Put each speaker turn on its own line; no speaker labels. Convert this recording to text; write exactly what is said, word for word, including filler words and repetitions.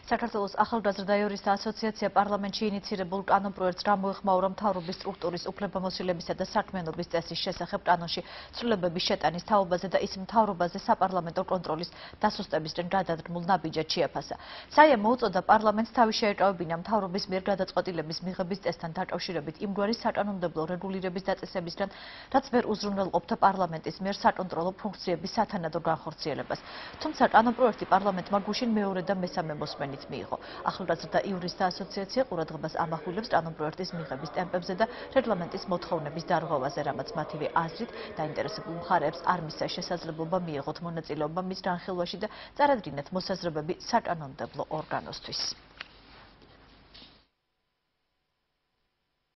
საქართველოს ახალგაზრდა იურისტთა ასოციაცია პარლამენტში ინიცირებულ კანონპროექტს გამოეხმაურა მთავრობის სტრუქტურის უფლებამოსილებისა და საქმიანობის წესის შესახებ კანონში ცვლილებების შეტანის თაობაზე და ის მთავრობაზე საპარლამენტო კონტროლის დასუსტებისკენ გადადგმულ ნაბიჯად შეაფასა. საიამ მოუწოდა პარლამენტს თავი შეეკავებინა მთავრობის მიერ გადაწყვეტილების მიღების წესთან დაკავშირებით იმგვარი საკანონმდებლო რეგულირების დაწესებისგან, რაც ვერ უზრუნველყოფდა პარლამენტის მიერ საკონტროლო ფუნქციების სათანადო განხორციელებას. თუმცა კანონპროექტი პარლამენტმა გუშინ მეორე და მესამე მოსმენით მიიღო. ახალგაზრდა იურისტთა ასოციაცია ყურადღებას ამახვილებს კანონპროექტის მიღების ტემპებზე და რეგლამენტის მოთხოვნების დარღვევაზე, რამაც მათივე აზრით დაინტერესებულ მხარეებს არ მისცა შესაძლებლობა მიეღოთ მონაწილეობა მის განხილვაში და წარადგინათ მოსაზრებები საკანონმდებლო ორგანოსთვის.